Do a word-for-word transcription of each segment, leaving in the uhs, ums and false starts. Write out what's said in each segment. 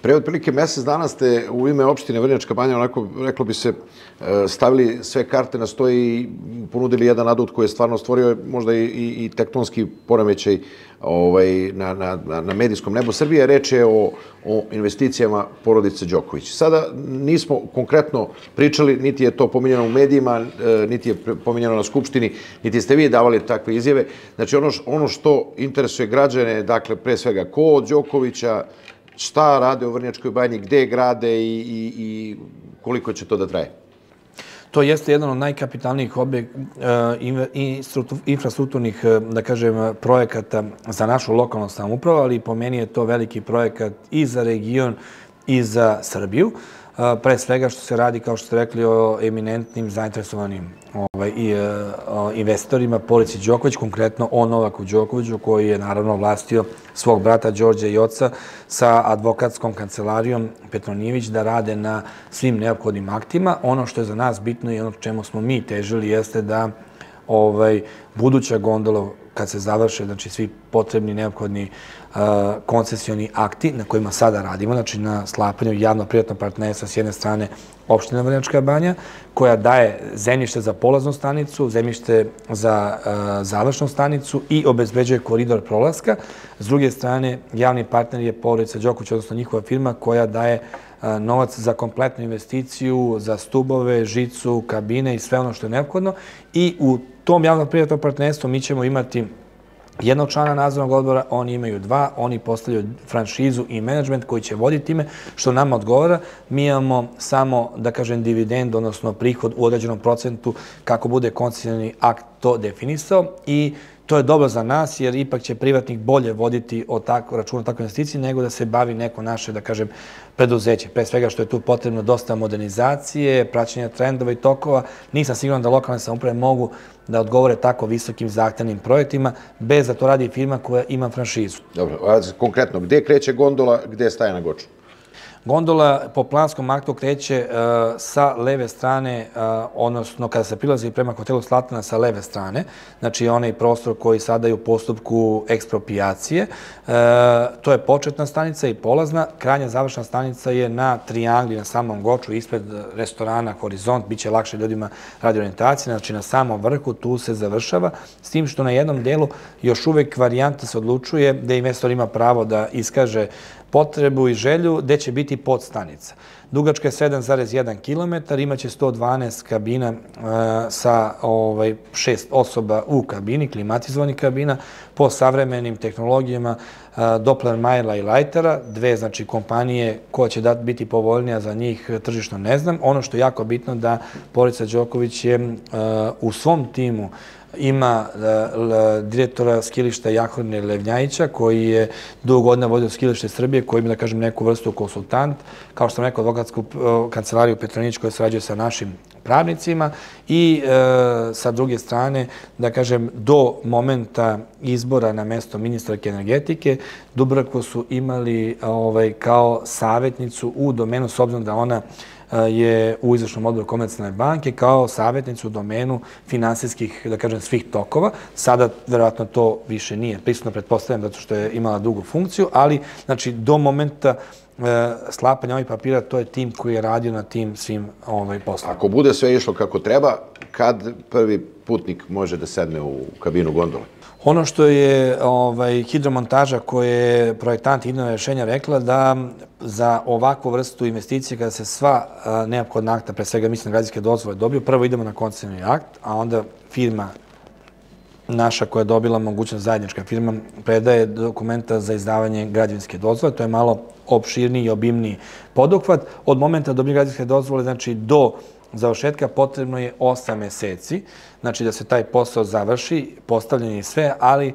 Pre otprilike mesec dana ste u ime opštine Vrnjačka Banja, onako, reklo bi se, stavili sve karte na stoj i ponudili jedan adut koji je stvarno stvorio možda i, i tektonski poremećaj ovaj, na, na, na medijskom nebu Srbije. Reč je o, o investicijama porodice Đoković. Sada nismo konkretno pričali, niti je to pominjeno u medijima, niti je pominjeno na Skupštini, niti ste vi davali takve izjave. Znači, ono, ono što interesuje građane, dakle, pre svega, ko od Đokovića, šta rade u Vrnjačkoj Banji, gde grade i, i, i koliko će to da traje? To jeste jedan od najkapitalnijih infrastrukturnih, da kažem, projekata za našu lokalnu samoupravu, ali po meni je to veliki projekat i za region i za Srbiju. Pre svega što se radi, kao što ste rekli, o eminentnim zainteresovanim investitorima, porodici Đoković, konkretno o Novaku Đokoviću, koji je naravno vlastio svog brata Đorđa i oca sa advokatskom kancelarijom Petronijević da rade na svim neophodnim aktima. Ono što je za nas bitno i ono čemu smo mi težili jeste da buduća gondola, kad se završe, znači svi potrebni neophodni koncesioni akti na kojima sada radimo, znači na sklapanju javno-privatnog partnerstva s jedne strane opština Vrnjačka Banja, koja daje zemljište za polaznu stanicu, zemljište za završnu stanicu i obezbeđuje koridor prolaska. S druge strane, javni partner je porodica Đoković, odnosno njihova firma koja daje novac za kompletnu investiciju, za stubove, žicu, kabine i sve ono što je neophodno. I u tom javno-privatnom partnerstvu mi ćemo imati jednog člana nadzornog odbora, oni imaju dva, oni postavljaju franšizu i menadžment koji će voditi time, što nama odgovara. Mi imamo samo, da kažem, dividend, odnosno prihod u određenom procentu kako bude koncesioni akt to definisao i to je dobro za nas, jer ipak će privatnik bolje voditi račun o takvoj investiciji nego da se bavi neko naše, da kažem, preduzeće. Pre svega što je tu potrebno dosta modernizacije, praćenja trendova i tokova. Nisam siguran da lokalne samouprave mogu da odgovore tako visokim zahtevnim projektima, bez da to radi firma koja ima franšizu. Dobro, a konkretno, gde kreće gondola, gde staje na Goču? Gondola po planskom aktu kreće sa leve strane, odnosno kada se prilazi prema hotelu Slatana sa leve strane, znači onaj prostor koji sada je u postupku eksproprijacije. To je početna stanica i polazna. Krajnja završna stanica je na Triangli, na samom Goču, ispred restorana Horizont. Biće lakše ljudima radi orijentacije, znači na samom vrhu tu se završava, s tim što na jednom delu još uvek varijanta se odlučuje da investor ima pravo da iskaže potrebu i želju gde će biti podstanica. Dugačka je sedam zarez jedan kilometar, imaće sto dvanaest kabina sa šest osoba u kabini, klimatizovanih kabina, po savremenim tehnologijama Doppler Mayera i Lightera, dve znači kompanije koja će biti povoljnija za njih tržišno ne znam. Ono što je jako bitno da porodica Đoković je u svom timu ima direktora skilišta Jahorne Levnjajića, koji je dugo godina vodio skilište Srbije, koji ima, da kažem, neku vrstu konsultant, kao što sam rekao, advokatsku kancelariju Petronijević koja sarađuje sa našim pravnicima i sa druge strane, da kažem, do momenta izbora na mesto ministarke energetike, Dubravku su imali kao savjetnicu u domenu, s obzirom da ona je u izvršnom odboru Komercijalne banke, kao savjetnicu u domenu finansijskih, da kažem, svih tokova. Sada, verovatno, to više nije prisutno, pretpostavljam, zato što je imala dugu funkciju, ali, znači, do momenta sklapanja ovih papira, to je tim koji je radio na tim svim poslovima. Ako bude sve išlo kako treba, kad prvi putnik može da sedne u kabinu gondole? Ono što je hidromontaža koje je projektant idejnog rešenja rekla da za ovakvu vrstu investicije kada se sva neophodna akta, pre svega mislim na građevinske dozvole dobiju, prvo idemo na koncesioni akt, a onda firma naša koja je dobila mogućnost, zajednička firma, predaje dokumenta za izdavanje građevinske dozvole. To je malo opširniji i obimniji poduhvat. Od momenta dobije građevinske dozvole, znači do završetka potrebno je osam meseci, znači da se taj posao završi, postavljanje i sve, ali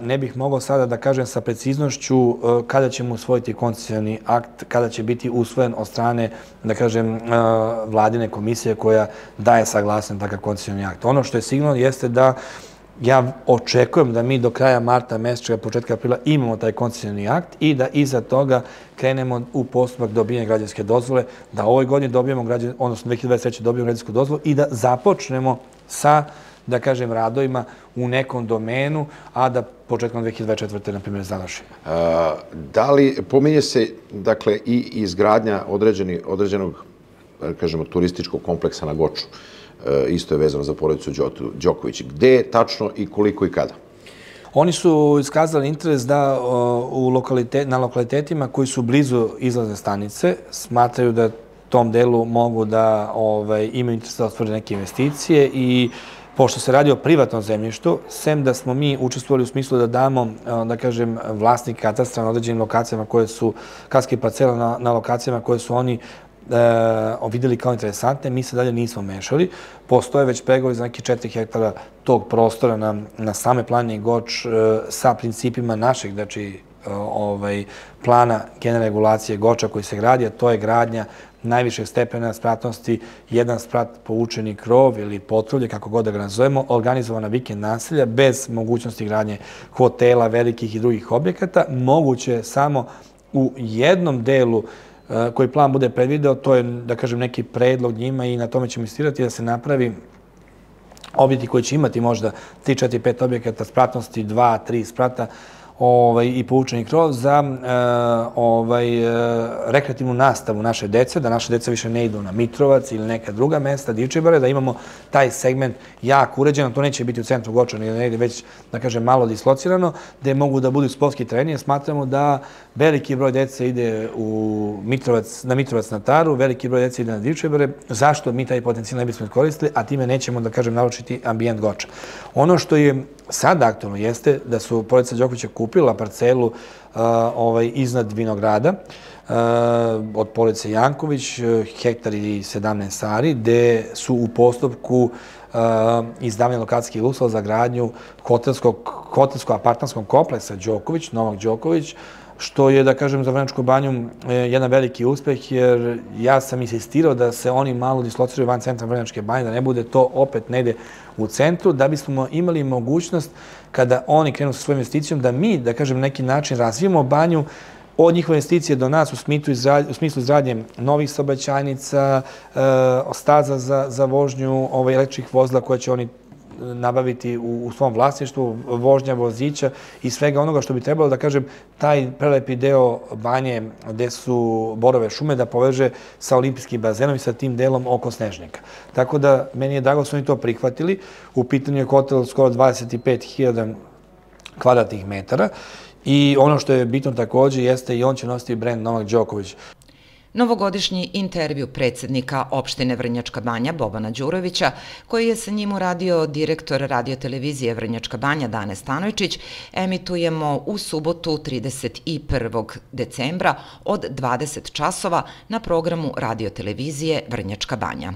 ne bih mogao sada da kažem sa preciznošću kada ćemo usvojiti koncesioni akt, kada će biti usvojen od strane, da kažem, vladine komisije koja daje saglasnost na takav koncesioni akt. Ono što je sigurno jeste da ja očekujem da mi do kraja marta meseca, početka aprila imamo taj koncesioni akt i da iza toga krenemo u postupak dobijanja građevinske dozvole, da ovoj godini dobijemo, odnosno dve hiljade dvadeset treće dobijemo građevinsku dozvolu i da započnemo sa da kažem, radovima u nekom domenu, a da početkom dve hiljade dvadeset četvrte. na primjer, završimo. Da li, pominje se, dakle, i izgradnja određenog, kažemo, turističkog kompleksa na Goču, isto je vezano za porodicu Đoković. Gde tačno i koliko i kada? Oni su iskazali interes da na lokalitetima koji su blizu izlazne stanice smatraju da tom delu mogu da imaju interes da otvore neke investicije i pošto se radi o privatnom zemljištu, sem da smo mi učestvovali u smislu da damo, da kažem, vlasnik katastra na određenim lokacijama koje su, kaske parcela na lokacijama koje su oni vidjeli kao interesantne, mi se dalje nismo mešali. Postoje već pregovori za neki četiri hektara tog prostora na same planine Goč sa principima našeg, znači, plana generalne regulacije Goča koji se gradi, a to je gradnja najvišeg stepena spratnosti, jedan sprat po učeni krov ili potrulje, kako god da ga nazovemo, organizovana vikend naselja, bez mogućnosti gradnje hotela, velikih i drugih objekata. Moguće je samo u jednom delu koji plan bude predvideo, to je, da kažem, neki predlog njima i na tome ćemo insistirati da se napravi objekti koji će imati možda tri, četiri, pet objekata spratnosti, dva, tri sprata i poučeni krov za rekreativnu nastavu naše dece, da naše dece više ne idu na Mitrovac ili neka druga mesta, Divčibare, da imamo taj segment jak uređen, to neće biti u centru Goča, nego negdje već, da kažem, malo dislocirano, gde mogu da budu sportski trenije. Smatramo da veliki broj dece ide na Mitrovac na Taru, veliki broj dece ide na Divčibare. Zašto mi taj potencijal ne bismo iskoristili, a time nećemo, da kažem, naručiti ambijent Goča. Ono što je sad aktualno jeste da su porodica Đokovića kupila parcelu iznad Vinograda od porodice Janković, hektar i sedamnaest ari, gde su u postupku izdavanja lokacijskih uslova za gradnju hotelsko-apartmanskog kompleksa Đoković, Novak Đoković, što je, da kažem, za Vrnjačku banju jedan veliki uspeh, jer ja sam insistirao da se oni malo dislociraju van centra Vrnjačke banje, da ne bude to opet negde u centru, da bismo imali mogućnost kada oni krenu sa svojom investicijom, da mi, da kažem, neki način razvijemo banju od njihove investicije do nas u smislu izgradnje novih saobraćajnica, staza za vožnju električnih vozila koje će oni nabaviti u svom vlasništvu, vožnja vozića i svega onoga što bi trebalo, da kažem, taj prelepi deo banje gde su borove šume da poveže sa olimpijskim bazenom i sa tim delom oko Snežnika. Tako da, meni je drago da su oni to prihvatili. U pitanju je hotel skoro dvadeset pet hiljada kvadratnih metara i ono što je bitno također jeste i on će nositi brend Novak Đoković. Novogodišnji intervju predsjednika opštine Vrnjačka banja Bobana Đurovića, koji je sa njim uradio direktor radiotelevizije Vrnjačka banja Dane Stanojčić, emitujemo u subotu trideset prvog decembra od dvadeset časova na programu radiotelevizije Vrnjačka banja.